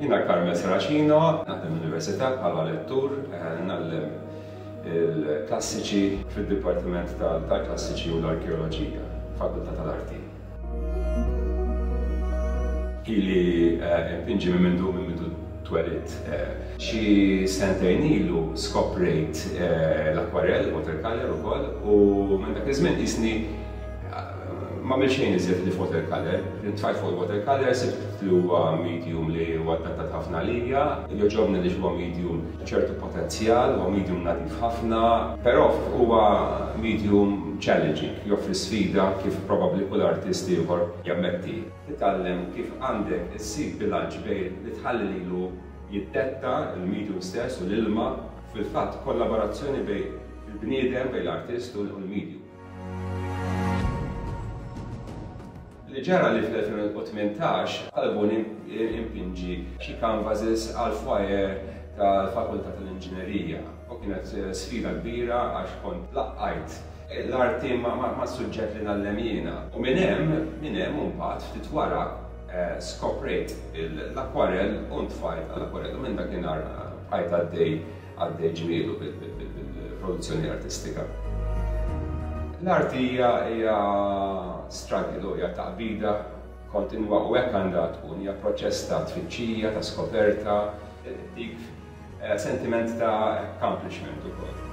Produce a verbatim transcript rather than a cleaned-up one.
Jiena Carmel Serracino, naħdem l-Università bħala lettur, ngħallem il-klassiċi fid-Dipartiment tal-Klassiċi u l-Arkeoloġija, Fakultà tal-Arti. Ili npinġi minn mindu minn mindu twelidt. Xi sentejn ilu skoprejt l-akwarell, watercolor ukoll, u minn dak iż-żmien qisni ma għamilt xejn iżjed ħlief watercolor. Tfajt fuq il-watercolor, sibt li huwa medium li huwa adattat ħafna għalija, jogħġobni li huwa medium ċertu potenzjal, huwa medium nadif ħafna, però huwa medium challenging, joffri sfida kif probabbli kull artist ieħor jammetti. Titgħallem kif għandek issib bilanċ bejn li tħalli lilu jiddetta il-medium stess u l-ilma, fil-fatt kollaborazzjoni bejn il-bniedem, bejn l-artist u l-medium. Li ġara li fl-elfejn u tmintax talbuni impinġi xi canvases għal foyer tal-Fakultà tal-Inġinerija u kienet sfida kbira għax kont laqqajt l-arti ma' suġġett li ngħallem jiena. U minn hemm, minn hemm imbagħad ftit wara skoprejt l-akwarell u ntfajt għall-akwarell u minn dakinhar bqajt għaddej għaddej ġmielu bil-produzzjoni artistika. L-arti hija hija struggle, hija taqbida kontinwa u hekk għandha tkun, hija proċess ta' tfittxija, ta' skoperta, dik sentiment ta' accomplishment ukoll.